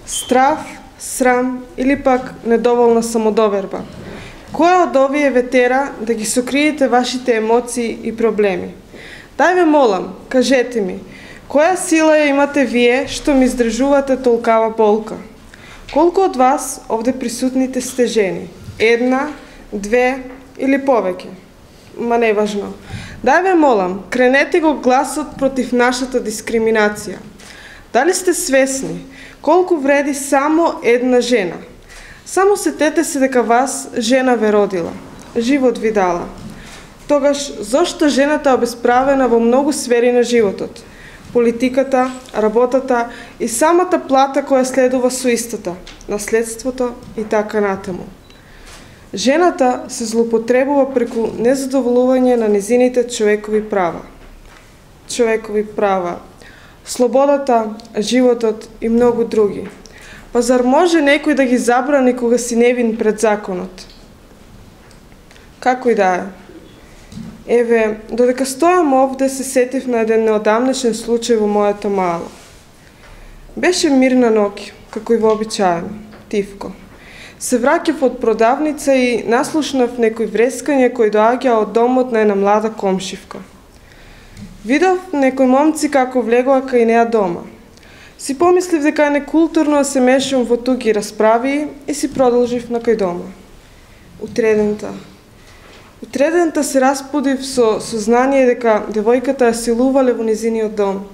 Страв, срам или пак недоволна самодоверба? Која од овие ве тера да ги сокриете вашите емоции и проблеми? Дај ве молам, кажете ми, која сила ја имате вие што ми издржувате толкава болка? Колку од вас овде присутните сте жени? Една, две или повеќе? Ма не важно. Дај ве молам, кренете го гласот против нашата дискриминација. Дали сте свесни колку вреди само една жена? Само сетете се дека вас жена ве родила, живот ви дала. Тогаш, зошто жената е обесправена во многу сфери на животот? Политиката, работата и самата плата која следува со истата, наследството и така натаму. Жената се злоупотребува преку незадоволување на незините човекови права. Човекови права, слободата, животот и многу други. Па зар може некој да ги забрани кога си невин пред законот? Како и да е. Еве, додека стојам овде се сетив на еден неодамнешен случај во мојата мала. Беше мирна ноќ, како и вообичаено, тивко. Се враќав од продавница и наслушнав некои врескање кои доаѓа од домот на една млада комшивка. Видов некои момци како влегоа кај неа дома. Си помислив дека е некултурно да се мешам во туги расправи и си продолжив на кај дома. Утредента се распудив со сознание дека девојката ја силувале во низиниот дом.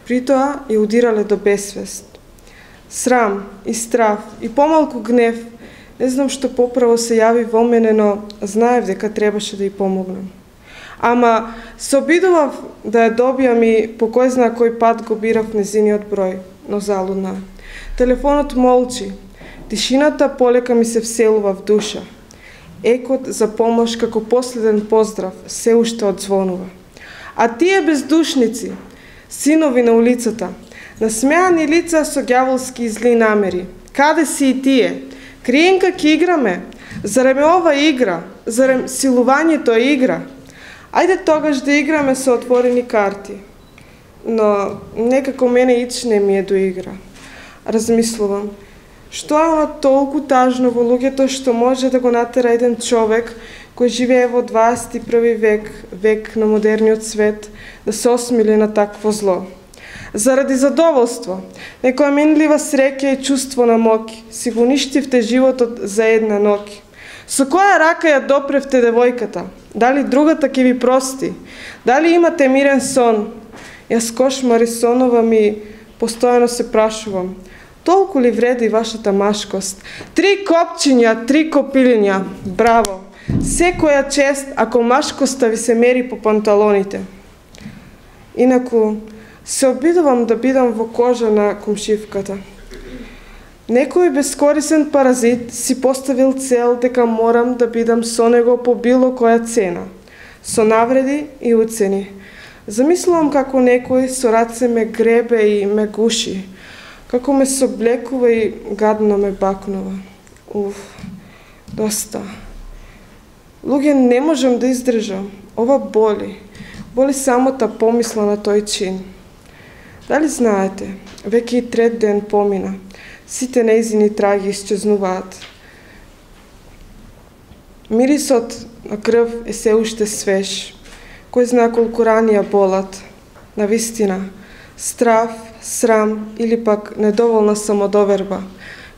Притоа ја удирале до бесвест. Срам и страв и помалку гнев, не знам што поправо се јави во мене, но знаев дека требаше да ја помогнам. Ама се обидував да ја добијам и по кој зна кој пат го бирав незиниот број, но залудна. Телефонот молчи, тишината полека ми се вселува в душа. Екот за помош како последен поздрав се уште одзвонува. А тие бездушници, синови на улицата, насмеани лица со ѓаволски и зли намери. Каде си и тие? Криенка ќе играме? Зарем е ова игра? Зарем силувањето е игра? Ајде тогаш да играме со отворени карти. Но некако мене ич не ми е до игра. Размислувам, што е оно толку тажно во луѓето што може да го натера еден човек кој живее во 21 век, век на модерниот свет, да се осмили на такво зло? Заради задоволство, некоја минлива среќа и чувство на моќ, си го уништивте животот за една ноќ. Со која рака ја допревте девојката? Дали другата ќе ви прости? Дали имате мирен сон? Јас кошмари сонова ми постојано се прашувам. Толку ли вреди вашата машкост? 3 копчиња, 3 копилиња. Браво! Секоја чест ако машкоста ви се мери по панталоните. Инаку, се обидувам да бидам во кожа на комшивката. Некој бескорисен паразит си поставил цел дека морам да бидам со него по било која цена, со навреди и уцени. Замислувам како некој со раце ме гребе и ме гуши, како ме соблекува и гадно ме бакнува. Доста. Луѓе, не можам да издржам. Ова боли. Боли самата помисла на тој чин. Дали знаете, веќе и 3 ден помина, сите нејзини траги исчезнуваат. Мирисот на крв е се уште свеж. Кој зна колку рани ја болат. Навистина, страв, срам или пак недоволна самодоверба.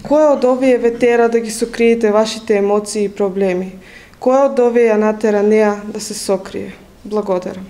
Која од овие ве тера да ги сокриете вашите емоции и проблеми? Која од овие ја натера неа да се сокрие? Благодарам.